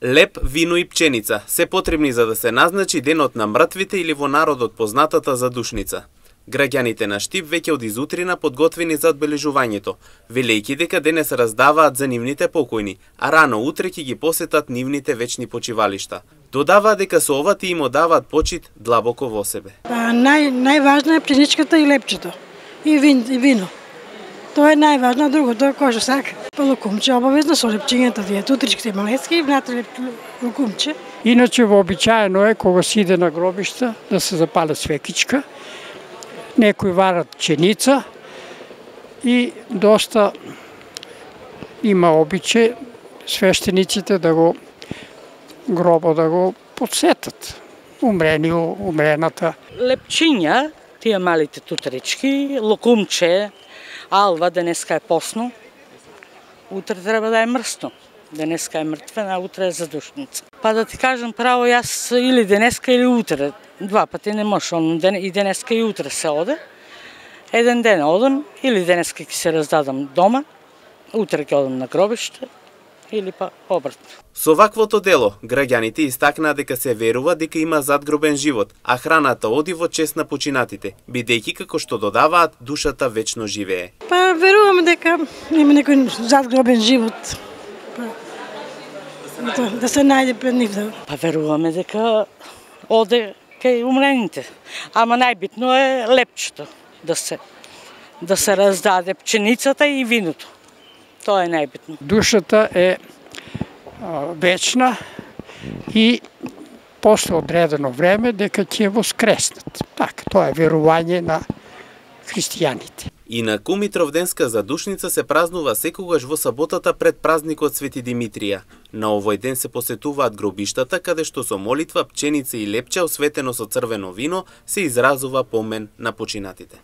Леп, вино и пченица се потребни за да се назначи денот на мртвите или во народот познатата задушница. Граѓаните на Штип веќе од изутрина подготвени за одбележувањето, велејќи дека денес раздаваат за нивните покојни, а рано утре ќе ги посетат нивните вечни почивалишта. Додаваат дека со ова тие им одаваат почит длабоко во себе. Најважна е пченичката и лепчето. И вино. Тоа е најважно, другото е кој што сака. Лукумче обавезно со лепчињата, дијата, утричките и малецки и внатре лукумче. Иначе вообичаено е кога се иде на гробишта да се запале свекичка, некои варат пченица и доста има обичај свештениците да го гробо да го подсетат. Умрената. Лепчиња, тие малите тутрички, лукумче, алва, денеска е посно, утре треба да е мрсно. Денеска е мртвена, а утре е задушница. Па да ти кажам право, јас или денеска или утре, два пати не може, и денеска и утре се оде. Еден ден одам, или денеска ќе се раздадам дома, утре ќе одам на гробиште, или па обратно. Со ваквото дело, граѓаните истакнаа дека се верува дека има задгробен живот, а храната оди во чест на починатите, бидејќи како што додаваат, душата вечно живее. Па веруваме дека има некој задгробен живот. Да се најде пред нив. Па веруваме дека оде кај умрените. Ама најбитно е лепчето да се раздаде пченицата и виното. Тоа е најбитно. Душата е вечна и после одредено време дека ќе воскреснат. Така, тоа е верување на христијаните. Инаку Митровденска задушница се празнува секогаш во саботата пред празникот Свети Димитрија. На овој ден се посетуваат гробиштата каде што со молитва, пченица и лепча осветено со црвено вино се изразува помен на починатите.